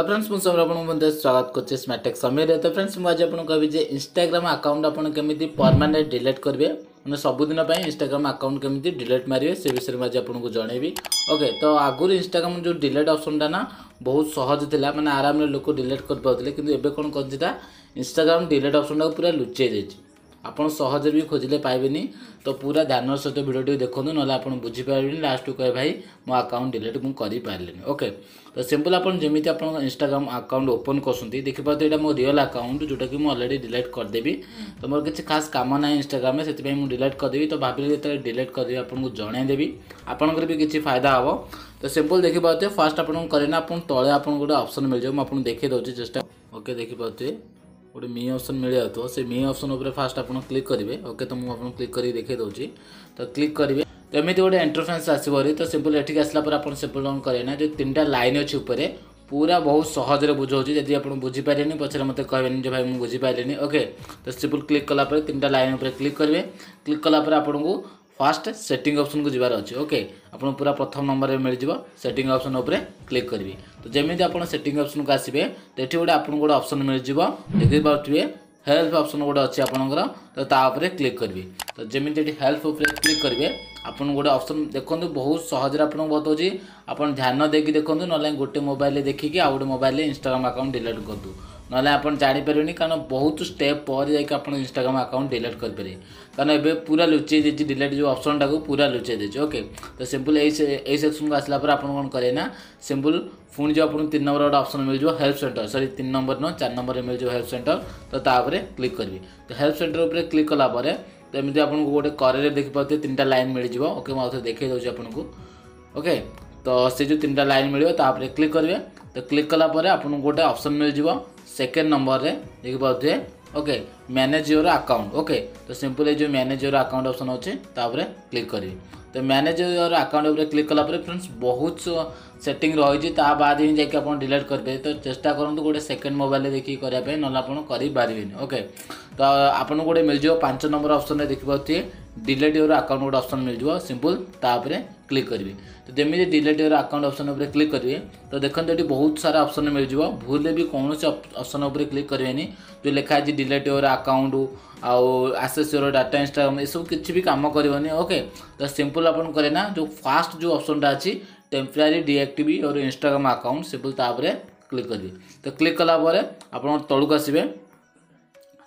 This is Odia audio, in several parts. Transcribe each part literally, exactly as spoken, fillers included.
ହ୍ୟାଲୋ ଫ୍ରେଣ୍ଡସ୍ ମୁଁ ସମୀର ଆପଣଙ୍କୁ ମଧ୍ୟ ସ୍ୱାଗତ କରୁଛି ସ୍ମାର୍ଟେକ୍ ସମୀରରେ ତ ଫ୍ରେଣ୍ଡସ୍ ମୁଁ ଆଜି ଆପଣଙ୍କୁ କହିବି ଯେ ଇନଷ୍ଟାଗ୍ରାମ ଆକାଉଣ୍ଟ ଆପଣ କେମିତି ପରମାନେଣ୍ଟ ଡିଲିଟ୍ କରିବେ ମାନେ ସବୁଦିନ ପାଇଁ ଇନଷ୍ଟାଗ୍ରାମ ଆକାଉଣ୍ଟ କେମିତି ଡିଲିଟ୍ ମାରିବେ ସେ ବିଷୟରେ ମୁଁ ଆଜି ଆପଣଙ୍କୁ ଜଣେଇବି ଓକେ ତ ଆଗରୁ ଇନଷ୍ଟାଗ୍ରାମ ଯେଉଁ ଡିଲିଟ୍ ଅପସନ୍ଟା ନା ବହୁତ ସହଜ ଥିଲା ମାନେ ଆରାମରେ ଲୋକ ଡିଲିଟ୍ କରିପାରୁଥିଲେ କିନ୍ତୁ ଏବେ କ'ଣ କରିଛି ନା ଇନଷ୍ଟାଗ୍ରାମ ଡିଲିଟ୍ ଅପସନ୍ଟାକୁ ପୁରା ଲୁଚେଇ ଦେଇଛି ଆପଣ ସହଜରେ ବି ଖୋଜିଲେ ପାଇବେନି ତ ପୁରା ଧ୍ୟାନର ସହିତ ଭିଡ଼ିଓଟିକୁ ଦେଖନ୍ତୁ ନହେଲେ ଆପଣ ବୁଝିପାରିବେନି ଲାଷ୍ଟକୁ କହିବେ ଭାଇ ମୋ ଆକାଉଣ୍ଟ ଡିଲିଟ୍ ମୁଁ କରିପାରିଲିନି ଓକେ ତ ସିମ୍ପଲ୍ ଆପଣ ଯେମିତି ଆପଣଙ୍କ ଇନଷ୍ଟାଗ୍ରାମ ଆକାଉଣ୍ଟ ଓପନ୍ କରୁଛନ୍ତି ଦେଖିପାରୁଥିବେ ଏଇଟା ମୋ ରିଅଲ୍ ଆକାଉଣ୍ଟ ଯେଉଁଟାକି ମୁଁ ଅଲରେଡ଼ି ଡିଲିଟ୍ କରିଦେବି ତ ମୋର କିଛି ଖାସ୍ କାମ ନାହିଁ ଇନଷ୍ଟାଗ୍ରାମରେ ସେଥିପାଇଁ ମୁଁ ଡିଲିଟ୍ କରିଦେବି ତ ଭାବିଲି ଯେତେବେଳେ ଡିଲିଟ୍ କରିଦେବି ଆପଣଙ୍କୁ ଜଣାଇଦେବି ଆପଣଙ୍କର ବି କିଛି ଫାଇଦା ହେବ ତ ସିମ୍ପଲ୍ ଦେଖିପାରୁଥିବେ ଫାର୍ଷ୍ଟ ଆପଣଙ୍କୁ କରିନା ଆପଣ ତଳେ ଆପଣଙ୍କୁ ଗୋଟେ ଅପସନ୍ ମିଳିଯିବ ମୁଁ ଆପଣଙ୍କୁ ଦେଖାଇ ଦେଉଛି ଚେଷ୍ଟା ଓକେ ଦେଖିପାରୁଥିବେ ଗୋଟେ ମି ଅପସନ୍ ମିଳିଯାଉଥିବ ସେ ମି ଅପସନ୍ ଉପରେ ଫାର୍ଷ୍ଟ ଆପଣ କ୍ଲିକ୍ କରିବେ ଓକେ ତ ମୁଁ ଆପଣଙ୍କୁ କ୍ଲିକ୍ କରିକି ଦେଖାଇ ଦେଉଛି ତ କ୍ଲିକ୍ କରିବେ ତ ଏମିତି ଗୋଟେ ଇଣ୍ଟରଫେସ୍ ଆସିବ ତ ସିମ୍ପଲ୍ ଏଠିକି ଆସିଲା ପରେ ଆପଣ ସିମ୍ପଲ୍ କ'ଣ କରିବେ ନା ଯେଉଁ ତିନିଟା ଲାଇନ୍ ଅଛି ଉପରେ ପୁରା ବହୁତ ସହଜରେ ବୁଝାଉଛି ଯଦି ଆପଣ ବୁଝିପାରିବେନି ପଛରେ ମୋତେ କହିବେନି ଯେ ଭାଇ ମୁଁ ବୁଝିପାରିଲିନି ଓକେ ତ ସିମ୍ପଲ୍ କ୍ଲିକ୍ କଲା ପରେ ତିନିଟା ଲାଇନ୍ ଉପରେ କ୍ଲିକ୍ କରିବେ କ୍ଲିକ୍ କଲା ପରେ ଆପଣଙ୍କୁ ଫାର୍ଷ୍ଟ ସେଟିଂ ଅପସନ୍କୁ ଯିବାର ଅଛି ଓକେ ଆପଣ ପୁରା ପ୍ରଥମ ନମ୍ବରରେ ମିଳିଯିବ ସେଟିଂ ଅପସନ୍ ଉପରେ କ୍ଲିକ୍ କରିବେ ତ ଯେମିତି ଆପଣ ସେଟିଂ ଅପସନ୍କୁ ଆସିବେ ତ ଏଠି ଗୋଟେ ଆପଣଙ୍କୁ ଗୋଟେ ଅପସନ୍ ମିଳିଯିବ ଦେଖିପାରୁଥିବେ ହେଲ୍ପ ଅପସନ୍ ଗୋଟେ ଅଛି ଆପଣଙ୍କର ତ ତା ଉପରେ କ୍ଲିକ୍ କରିବେ ତ ଯେମିତି ଏଠି ହେଲ୍ପ ଉପରେ କ୍ଲିକ୍ କରିବେ ଆପଣଙ୍କୁ ଗୋଟେ ଅପସନ୍ ଦେଖନ୍ତୁ ବହୁତ ସହଜରେ ଆପଣଙ୍କୁ ବତାଉଛି ଆପଣ ଧ୍ୟାନ ଦେଇକି ଦେଖନ୍ତୁ ନହେଲେ ଗୋଟେ ମୋବାଇଲରେ ଦେଖିକି ଆଉ ଗୋଟେ ମୋବାଇଲରେ ଇନଷ୍ଟାଗ୍ରାମ ଆକାଉଣ୍ଟ ଡିଲିଟ୍ କରନ୍ତୁ ନହେଲେ ଆପଣ ଜାଣିପାରିବେନି କାରଣ ବହୁତ ଷ୍ଟେପ୍ ପରେ ଯାଇକି ଆପଣ ଇନଷ୍ଟାଗ୍ରାମ ଆକାଉଣ୍ଟ ଡିଲିଟ୍ କରିପାରିବେ କାରଣ ଏବେ ପୁରା ଲୁଚେଇ ଦେଇଛି ଡିଲିଟ୍ ଯେଉଁ ଅପସନ୍ଟାକୁ ପୁରା ଲୁଚେଇ ଦେଇଛି ଓକେ ତ ସିମ୍ପଲ୍ ଏଇ ଏଇ ସେକ୍ସନକୁ ଆସିଲା ପରେ ଆପଣ କ'ଣ କରିବେ ନା ସିମ୍ପଲ୍ ପୁଣି ଯେଉଁ ଆପଣଙ୍କୁ ତିନି ନମ୍ବର ଗୋଟେ ଅପସନ୍ ମିଳିଯିବ ହେଲ୍ପ ସେଣ୍ଟର ସରି ତିନି ନମ୍ବର ନୁହଁ ଚାରି ନମ୍ବରରେ ମିଳିଯିବ ହେଲ୍ପ ସେଣ୍ଟର ତ ତା ଉପରେ କ୍ଲିକ୍ କରିବେ ତ ହେଲ୍ପ ସେଣ୍ଟର ଉପରେ କ୍ଲିକ୍ କଲା ପରେ ତ ଏମିତି ଆପଣଙ୍କୁ ଗୋଟେ କରେରେ ଦେଖିପାରୁଥିବେ ତିନିଟା ଲାଇନ୍ ମିଳିଯିବ ଓକେ ମୁଁ ଆଉଥରେ ଦେଖାଇ ଦେଉଛି ଆପଣଙ୍କୁ ଓକେ ତ ସେ ଯେଉଁ ତିନିଟା ଲାଇନ୍ ମିଳିବ ତା ଉପରେ କ୍ଲିକ୍ କରିବେ ତ କ୍ଲିକ୍ କଲା ପରେ ଆପଣଙ୍କୁ ଗୋଟେ ଅପସନ୍ ମିଳିଯିବ ସେକେଣ୍ଡ ନମ୍ବରରେ ଦେଖିପାରୁଥିବେ okay manage your account okay ତ ସିମ୍ପଲ୍ ଏଇ ଯେଉଁ ମ୍ୟାନେଜ୍ your account option ଅଛି ତାପରେ କ୍ଲିକ୍ କରିବେ ତ ମ୍ୟାନେଜ୍ your account ଉପରେ କ୍ଲିକ୍ କଲା ପରେ ଫ୍ରେଣ୍ଡସ୍ ବହୁତ ସେଟିଂ ରହିଛି ତା ବାଦ ହିଁ ଯାଇକି ଆପଣ ଡିଲିଟ୍ କରିପାରିବେ ତ ଚେଷ୍ଟା କରନ୍ତୁ ଗୋଟେ ସେକେଣ୍ଡ ମୋବାଇଲରେ ଦେଖିକି କରିବା ପାଇଁ ନହେଲେ ଆପଣ କରିପାରିବେନି ଓକେ ତ ଆପଣଙ୍କୁ ଗୋଟେ ମିଳିଯିବ ପାଞ୍ଚ ନମ୍ବର ଅପସନ୍ରେ ଦେଖିପାରୁଥିବେ ଡିଲିଟ୍ your account ଗୋଟେ ଅପସନ୍ ମିଳିଯିବ ସିମ୍ପଲ୍ ତା ଉପରେ କ୍ଲିକ୍ କରିବେ ତ ଯେମିତି ଡିଲିଟ୍ your account option ଉପରେ କ୍ଲିକ୍ କରିବେ ତ ଦେଖନ୍ତୁ ଏଠି ବହୁତ ସାରା ଅପସନ୍ ମିଳିଯିବ ଭୁଲରେ ବି କୌଣସି ଅପସନ୍ ଉପରେ କ୍ଲିକ୍ କରିବେନି ଯେଉଁ ଲେଖା ହେଇଛି ଡିଲିଟ୍ your account ଆଉ ଆକ୍ସେସ୍ your data Instagram ଏସବୁ କିଛି ବି କାମ କରିବନି ଓକେ ତ ସିମ୍ପଲ୍ ଆପଣ କରିବେ ନା ଯେଉଁ ଫାଷ୍ଟ ଯେଉଁ ଅପସନ୍ଟା ଅଛି temporary deactivate your Instagram account simple ତା ଉପରେ କ୍ଲିକ୍ କରିବେ ତ କ୍ଲିକ୍ କଲା ପରେ ଆପଣ ତଳକୁ ଆସିବେ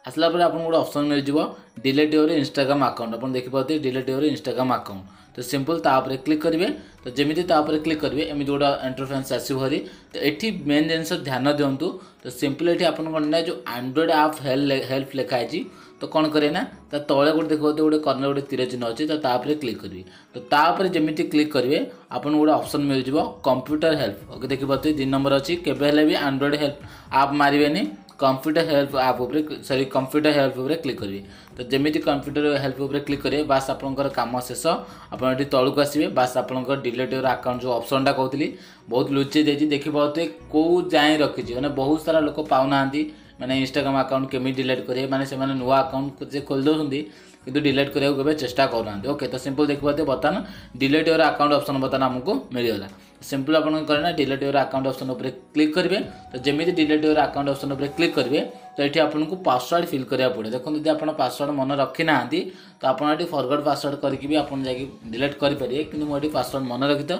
ଆସିଲା ପରେ ଆପଣଙ୍କୁ ଗୋଟେ ଅପସନ୍ ମିଳିଯିବ ଡିଲିଟ୍ your Instagram account ଆପଣ ଦେଖିପାରୁଥିବେ ଡିଲିଟ୍ your Instagram account ତ ସିମ୍ପଲ୍ ତା ଉପରେ କ୍ଲିକ୍ କରିବେ ତ ଯେମିତି ତା ଉପରେ କ୍ଲିକ୍ କରିବେ ଏମିତି ଗୋଟେ ଇଣ୍ଟରଫେସ୍ ଆସିବ ଭାରି ତ ଏଠି ମେନ୍ ଜିନିଷ ଧ୍ୟାନ ଦିଅନ୍ତୁ ତ ସିମ୍ପଲ୍ ଏଠି ଆପଣ କ'ଣ ନା ଯେଉଁ ଆଣ୍ଡ୍ରଏଡ଼୍ ଆପ୍ ହେଲ୍ପ ହେଲ୍ପ ଲେଖା ହେଇଛି ତ କ'ଣ କରିବେ ନା ତା ତଳେ ଗୋଟେ ଦେଖିପାରୁଥିବେ ଗୋଟେ କର୍ଣ୍ଣର ଗୋଟେ ତୀର ଚିହ୍ନ ଅଛି ତ ତା ଉପରେ କ୍ଲିକ୍ କରିବେ ତ ତା ଉପରେ ଯେମିତି କ୍ଲିକ୍ କରିବେ ଆପଣଙ୍କୁ ଗୋଟେ ଅପସନ୍ ମିଳିଯିବ କମ୍ପ୍ୟୁଟର ହେଲ୍ପ ଓକେ ଦେଖିପାରୁଥିବେ ଦୁଇ ନମ୍ବର ଅଛି କେବେ ହେଲେ ବି ଆଣ୍ଡ୍ରଏଡ଼୍ ହେଲ୍ପ ଆପ୍ ମାରିବେନି କମ୍ପ୍ୟୁଟର ହେଲ୍ପ ଆପ୍ ଉପରେ ସରି କମ୍ପ୍ୟୁଟର ହେଲ୍ପ ଉପରେ କ୍ଲିକ୍ କରିବେ ତ ଯେମିତି କମ୍ପ୍ୟୁଟର ହେଲ୍ପ ଉପରେ କ୍ଲିକ୍ କରିବେ ବାସ୍ ଆପଣଙ୍କର କାମ ଶେଷ ଆପଣ ଏଠି ତଳକୁ ଆସିବେ ବାସ୍ ଆପଣଙ୍କର ଡିଲିଟ୍ your account ଯେଉଁ ଅପସନ୍ଟା କହୁଥିଲି ବହୁତ ଲୁଚେଇ ଦେଇଛି ଦେଖିପାରୁଥିବେ କେଉଁ ଯାଏଁ ରଖିଛି ମାନେ ବହୁତ ସାରା ଲୋକ ପାଉନାହାନ୍ତି ମାନେ ଇନଷ୍ଟାଗ୍ରାମ ଆକାଉଣ୍ଟ କେମିତି ଡିଲିଟ୍ କରିବେ ମାନେ ସେମାନେ ନୂଆ ଆକାଉଣ୍ଟ ଯେ ଖୋଲି ଦେଉଛନ୍ତି କିନ୍ତୁ ଡିଲିଟ୍ କରିବାକୁ କେବେ ଚେଷ୍ଟା କରୁନାହାନ୍ତି ଓକେ ତ ସିମ୍ପଲ୍ ଦେଖିପାରୁଥିବେ ବର୍ତ୍ତମାନ ଡିଲିଟ୍ your account option ବର୍ତ୍ତମାନ ଆମକୁ ମିଳିଗଲା ସିମ୍ପଲ୍ ଆପଣ କରିବେ ନା ଡିଲିଟ୍ your account option ଉପରେ କ୍ଲିକ୍ କରିବେ ତ ଯେମିତି ଡିଲିଟ୍ your account option ଉପରେ କ୍ଲିକ୍ କରିବେ ତ ଏଠି ଆପଣଙ୍କୁ ପାସୱାର୍ଡ଼ ଫିଲ୍ କରିବାକୁ ପଡ଼ିବ ଦେଖନ୍ତୁ ଯଦି ଆପଣ ପାସୱାର୍ଡ଼ ମନେ ରଖିନାହାନ୍ତି ତ ଆପଣ ଏଠି ଫରଗଟ୍ ପାସୱାର୍ଡ଼ କରିକି ବି ଆପଣ ଯାଇକି ଡିଲିଟ୍ କରିପାରିବେ କିନ୍ତୁ ମୁଁ ଏଠି ପାସୱାର୍ଡ଼ ମନେ ରଖିତ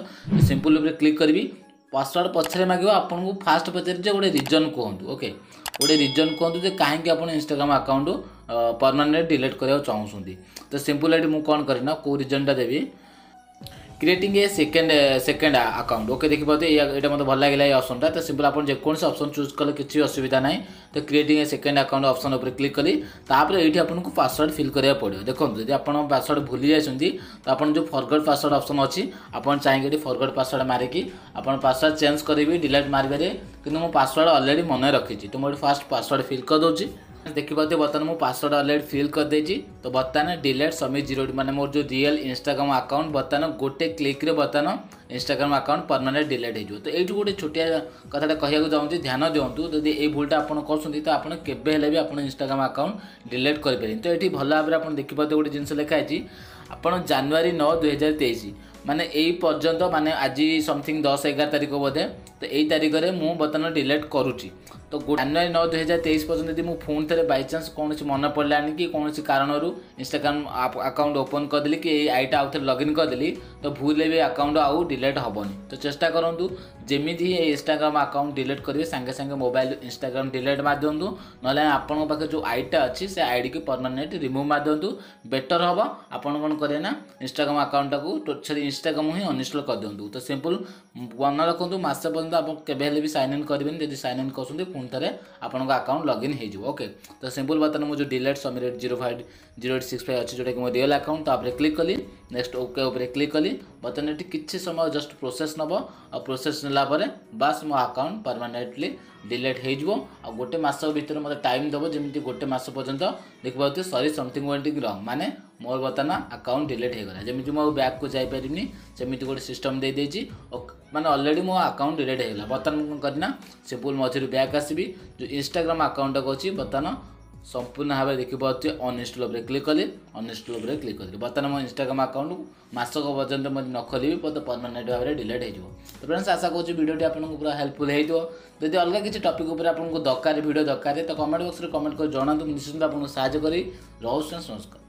ସିମ୍ପଲ୍ ଉପରେ କ୍ଲିକ୍ କରିବି ପାସୱାର୍ଡ଼ ପଛରେ ମାଗିବ ଆପଣଙ୍କୁ ଫାଷ୍ଟ ପଚାରି ଯେ ଗୋଟେ ରିଜନ୍ କୁହନ୍ତୁ ଓକେ ଗୋଟେ ରିଜନ୍ କୁହନ୍ତୁ ଯେ କାହିଁକି ଆପଣ ଇନଷ୍ଟାଗ୍ରାମ ଆକାଉଣ୍ଟ ପରମାନେଣ୍ଟ ଡିଲିଟ୍ କରିବାକୁ ଚାହୁଁଛନ୍ତି ତ ସିମ୍ପଲ୍ ଏଠି ମୁଁ କ'ଣ କରିବି ନା କେଉଁ ରିଜନ୍ଟା ଦେବି creating a second second account okay ଦେଖିପାରୁଥିବେ ଏଇଟା ମୋତେ ଭଲ ଲାଗିଲା ଏଇ ଅପସନ୍ଟା ତ ସିମ୍ପଲ୍ ଆପଣ ଯେକୌଣସି ଅପସନ୍ ଚୁଜ୍ କଲେ କିଛି ଅସୁବିଧା ନାହିଁ ତ creating a second account option ଉପରେ କ୍ଲିକ୍ କଲି ତାପରେ ଏଇଠି ଆପଣଙ୍କୁ ପାସୱାର୍ଡ଼ ଫିଲ୍ କରିବାକୁ ପଡ଼ିବ ଦେଖନ୍ତୁ ଯଦି ଆପଣ ପାସୱାର୍ଡ଼ ଭୁଲି ଯାଇଛନ୍ତି ତ ଆପଣ ଯେଉଁ ଫରଗଟ୍ ପାସୱାର୍ଡ଼ ଅପସନ୍ ଅଛି ଆପଣ ଚାହିଁକି ଏଠି ଫରଗଟ୍ ପାସୱାର୍ଡ଼ ମାରିକି ଆପଣ ପାସୱାର୍ଡ଼ ଚେଞ୍ଜ କରିବି ଡିଲିଟ୍ ମାରିପାରିବେ କିନ୍ତୁ ମୁଁ ପାସୱାର୍ଡ଼ ଅଲରେଡ଼ି ମନେ ରଖିଛି ତ ମୁଁ ଏଠି ଫାଷ୍ଟ ପାସୱାର୍ଡ଼ ଫିଲ୍ କରିଦେଉଛି ଦେଖିପାରୁଥିବେ ବର୍ତ୍ତମାନ ମୁଁ ପାସୱାର୍ଡ଼ ଅଲରେଡ଼ି ଫିଲ୍ କରିଦେଇଛି ତ ବର୍ତ୍ତମାନ ଡିଲେଟ୍ ସମିତ ଜିରୋ ମାନେ ମୋର ଯେଉଁ ରିଏଲ୍ ଇନଷ୍ଟାଗ୍ରାମ ଆକାଉଣ୍ଟ ବର୍ତ୍ତମାନ ଗୋଟେ କ୍ଲିକ୍ରେ ବର୍ତ୍ତମାନ ଇନଷ୍ଟାଗ୍ରାମ ଆକାଉଣ୍ଟ ପରମାନେଣ୍ଟ ଡିଲେଟ୍ ହେଇଯିବ ତ ଏଇଠୁ ଗୋଟେ ଛୋଟିଆ କଥାଟା କହିବାକୁ ଚାହୁଁଛି ଧ୍ୟାନ ଦିଅନ୍ତୁ ଯଦି ଏଇ ଭୁଲଟା ଆପଣ କରୁଛନ୍ତି ତ ଆପଣ କେବେ ହେଲେ ବି ଆପଣ ଇନଷ୍ଟାଗ୍ରାମ ଆକାଉଣ୍ଟ ଡିଲେଟ୍ କରିପାରିବେନି ତ ଏଠି ଭଲ ଭାବରେ ଆପଣ ଦେଖିପାରୁଥିବେ ଗୋଟେ ଜିନିଷ ଲେଖା ହେଇଛି ଆପଣ ଜାନୁଆରୀ ନଅ ଦୁଇହଜାର ତେଇଶ ମାନେ ଏଇ ପର୍ଯ୍ୟନ୍ତ, ମାନେ ଆଜି ସମଥିଙ୍ଗ ଦଶ ଏଗାର ତାରିଖ ବୋଧେ, ତ ଏଇ ତାରିଖରେ ମୁଁ ବର୍ତ୍ତମାନ ଡିଲେଟ୍ କରୁଛି। ତ ଜାନୁଆରୀ ନଅ ଦୁଇ ହଜାର ତେଇଶ ପର୍ଯ୍ୟନ୍ତ ଯଦି ମୁଁ ପୁଣି ଥରେ ବାଇଚାନ୍ସ କୌଣସି ମନେ ପଡ଼ିଲାନି କି କୌଣସି କାରଣରୁ ଇନଷ୍ଟାଗ୍ରାମ ଆକାଉଣ୍ଟ ଓପନ୍ କରିଦେଲି କି ଏଇ ଆଇଟା ଆଉ ଥରେ ଲଗ୍ଇନ୍ କରିଦେଲି, ତ ଭୁଲରେ ବି ଆକାଉଣ୍ଟ ଆଉ ଡିଲେଟ୍ ହେବନି। ତ ଚେଷ୍ଟା କରନ୍ତୁ, ଯେମିତି ହିଁ ଏଇ ଇନଷ୍ଟାଗ୍ରାମ ଆକାଉଣ୍ଟ ଡିଲେଟ୍ କରିବେ, ସାଙ୍ଗେ ସାଙ୍ଗେ ମୋବାଇଲ ଇନଷ୍ଟାଗ୍ରାମ ଡିଲେଟ୍ ମାରିଦିଅନ୍ତୁ, ନହେଲେ ଆପଣଙ୍କ ପାଖରେ ଯେଉଁ ଆଇଟା ଅଛି ସେ ଆଇଡ଼ିକୁ ପରମାନେଣ୍ଟ ରିମୁଭ୍ ମାରିଦିଅନ୍ତୁ, ବେଟର୍ ହେବ। ଆପଣ କ'ଣ କରିବେ ନା ଇନଷ୍ଟାଗ୍ରାମ ଆକାଉଣ୍ଟଟାକୁ ସରି ଇନଷ୍ଟାଗ୍ରାମ ହିଁ ଅନଇନଷ୍ଟଲ୍ କରିଦିଅନ୍ତୁ। ତ ସିମ୍ପଲ୍ ମନେ ରଖନ୍ତୁ, ମାସେ ପର୍ଯ୍ୟନ୍ତ ଆପଣ କେବେ ହେଲେ ବି ସାଇନ୍ ଇନ୍ କରିବେନି। ଯଦି ସାଇନ୍ ଇନ୍ କରୁଛନ୍ତି, ପୁଣି ଥରେ ଆପଣଙ୍କ ଆକାଉଣ୍ଟ ଲଗ୍ଇନ୍ ହେଇଯିବ। ଓକେ, ତ ସିମ୍ପଲ୍ ବର୍ତ୍ତମାନ ମୁଁ ଯେଉଁ delete Samir zero five zero eight six five ଅଛି, ଯେଉଁଟାକି ମୋ ରିଅଲ୍ ଆକାଉଣ୍ଟ, ତାପରେ କ୍ଲିକ୍ କଲି, ନେକ୍ସଟ ଓକେ ଉପରେ କ୍ଲିକ୍ କଲି। ବର୍ତ୍ତମାନ ଏଠି କିଛି ସମୟ ଜଷ୍ଟ ପ୍ରୋସେସ୍ ନେବ, ଆଉ ପ୍ରୋସେସ୍ ନେଲା ପରେ ବାସ୍ ମୋ ଆକାଉଣ୍ଟ ପରମାନେଣ୍ଟଲି ଡିଲେଟ୍ ହେଇଯିବ। ଆଉ ଗୋଟେ ମାସ ଭିତରେ ମୋତେ ଟାଇମ୍ ଦେବ, ଯେମିତି ଗୋଟେ ମାସ ପର୍ଯ୍ୟନ୍ତ ଦେଖିପାରୁଥିବେ, ସରି ସମଥିଙ୍ଗ ୱେଣ୍ଟ ରଙ୍ଗ, ମାନେ ମୋର ବର୍ତ୍ତମାନ ଆକାଉଣ୍ଟ ଡିଲେଟ୍ ହେଇଗଲା। ଯେମିତି ମୁଁ ଆଉ ବ୍ୟାକ୍କୁ ଯାଇପାରିବିନି, ସେମିତି ଗୋଟେ ସିଷ୍ଟମ୍ ଦେଇଦେଇଛି। ମାନେ ଅଲରେଡ଼ି ମୋ ଆକାଉଣ୍ଟ ଡିଲେଟ୍ ହେଇଗଲା। ବର୍ତ୍ତମାନ ମୁଁ କ'ଣ କରିନା ସିମ୍ପଲ୍ ମଝିରୁ ବ୍ୟାକ୍ ଆସିବି, ଯେଉଁ ଇନଷ୍ଟାଗ୍ରାମ ଆକାଉଣ୍ଟଟାକୁ ଅଛି ବର୍ତ୍ତମାନ ସମ୍ପୂର୍ଣ୍ଣ ଭାବରେ ଦେଖିପାରୁଥିବେ, ଅନଇନଷ୍ଟଲ୍ ଉପରେ କ୍ଲିକ୍ କଲି, ଅନଇନଷ୍ଟଲ୍ ଉପରେ କ୍ଲିକ୍ କଲି। ବର୍ତ୍ତମାନ ମୋ ଇନଷ୍ଟାଗ୍ରାମ ଆକାଉଣ୍ଟକୁ ମାସକ ପର୍ଯ୍ୟନ୍ତ ମୁଁ ନ ଖୋଲିବି, ମୋତେ ପରମାନେଣ୍ଟ ଭାବରେ ଡିଲେଟ୍ ହେଇଯିବ। ତ ଫ୍ରେଣ୍ଡସ୍, ଆଶା କରୁଛି ଭିଡ଼ିଓଟି ଆପଣଙ୍କୁ ପୁରା ହେଲ୍ପଫୁଲ୍ ହେଇଥିବ। ଯଦି ଅଲଗା କିଛି ଟପିକ୍ ଉପରେ ଆପଣଙ୍କୁ ଦରକାର, ଭିଡ଼ିଓ ଦରକାର, ତ କମେଣ୍ଟ ବକ୍ସରେ କମେଣ୍ଟ କରି ଜଣାନ୍ତୁ, ମୁଁ ନିଶ୍ଚିନ୍ତ ଆପଣଙ୍କୁ ସାହାଯ୍ୟ କରିବି। ରହୁଛି, ନମସ୍କାର।